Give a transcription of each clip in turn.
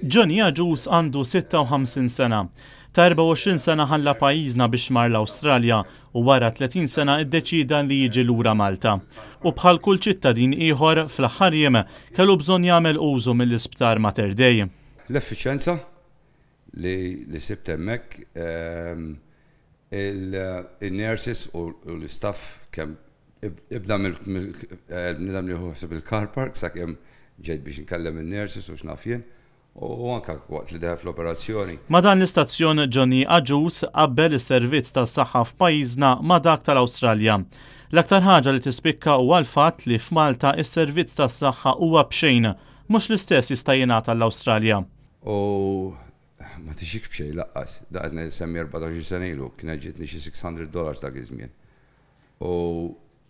Johnny Agius għandu 56 sena. Ta' 24 sena ħalla pajjiżna biex mar l-Awstralja u wara 30 sena iddeċieda li jiġi lura Malta. U bħal kull ċittadin ieħor fl-aħħar jiem kellu bżonn jagħmel użu mill-isptar Mater Dei. L-effiċjenza li sibt hemmhekk, il-nurses u l-istaff, kemm ibda mill-bniedem li jieħu ħsieb il-car park sakemm ġejt biex nkellem in-nurses u x'naf jien, u anke waqt li deħel fl-operazzjoni. Ma' dan l-istazzjon Johnny Agius qabbel is-servizz tas-saħħa f'pajjiżna ma' dak tal-Awstralja. L-aktar ħaġa li tispikka huwa l-fatt li f'Malta s-servizz tas-saħħa huwa b'xejn, mhux l-istess jista' jingħad għall-Awstralja. U ma tiġikx b'xejn lanqas. Dak qed nsemmi 14 sena ilu, kienet ġietni xi $600 dak iż-żmien. U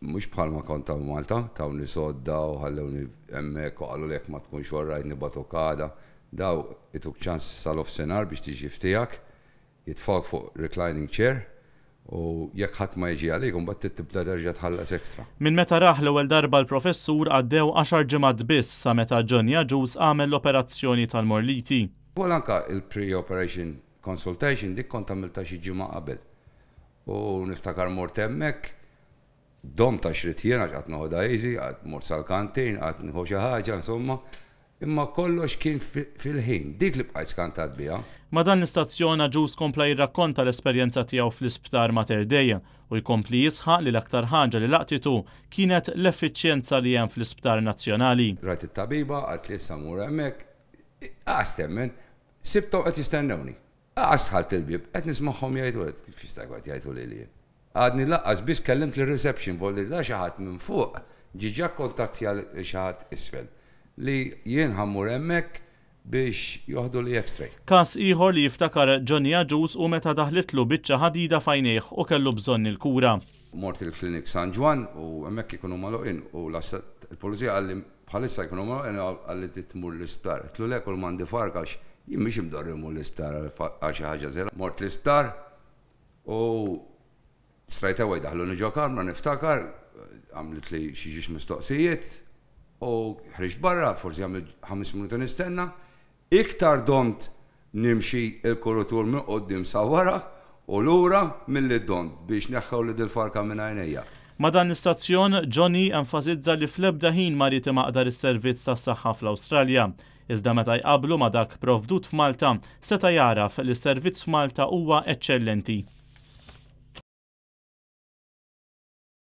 mhux bħalma kont ta' Malta, tawni sodda u ħallewni hemmhekk u qalu li jekk ma tkunx alright nibagħtuk għada. Dawn ituk ċans sal-nofsinhar biex tiġi f'tiegħek, jitfgħuk fuq reclining chair u jekk ħadd ma jiġi għalik, imbagħad tibda terġa' tħallas extra. Minn meta rah l-ewwel darba l-professur għaddew 10 ġimgħat biss sa meta Johnny Agius għamel l-operazzjoni tal-morliti. U anka il-pre-operation consultation dik kont għamilta xi ġimgħa qabel. U niftakar mort hemmhekk, domt għax ridt jiena qgħadt noħodha easy, qgħadt mort sal-kantin, qgħadt nieħu xi ħaġa, insomma. Imma kollox kien fil-ħin, dik li bqajt skantat biha. Ma' dan l-istazzjon Agius kompla jirrakkonta l-esperjenza tiegħu fl-isptar Mater Dei u jkompli jisħaq li l-aktar ħaġa li laqtitu kienet l-effiċjenza li hemm fl-isptar nazzjonali. Rajt it-tabiba, qaltli issa mur hemmhekk, qas temmen, sibthom qed jistennewni. Qas dħalt il-bieb, qed nismagħhom jgħidu, kif jista' jkun qed jgħidu lili jien? Għadni lanqas biss kellimt lir-reception, volli da xi ħadd minn fuq ġiġa kontattja lil xi ħadd isfel li jien ħa mmur hemmhekk biex joħduli x-ray. Każ ieħor li jiftakar Johnny Agius hu meta daħlitlu biċċa ħadida f'għajnejh u kellu bżonn il-kura. Mort il-klinik San Ġwann u hemmhekk ikunu magħluqin u il-pulizija qalli bħalissa jkunu magħluqin, qalli trid tmur l-isptar. Għedtlu le, kull m'għandi farka għax jien mhix imdorri mmur l-isptar għal xi ħaġa żgħira. Mort l-isptar u straight away daħluni ġo kamra, niftakar, għamlet li xi ġiex mistoqsijiet u ħriġt barra, forsi għamilt 5 minuti nistenna. Iktar domt nimxi il-kuritur minn quddiem sa wara u lura milli domt biex neħħew li dil-farka minn għajnejja. Ma' dan l-istazzjon, Johnny enfasizza li fl-ebda ħin ma ried imaqdar is-servizz tas-saħħa fl-Awstralja. Iżda meta jqablu ma' dak provdut f'Malta, seta' jaraf li s-servizz f'Malta huwa eċċellenti.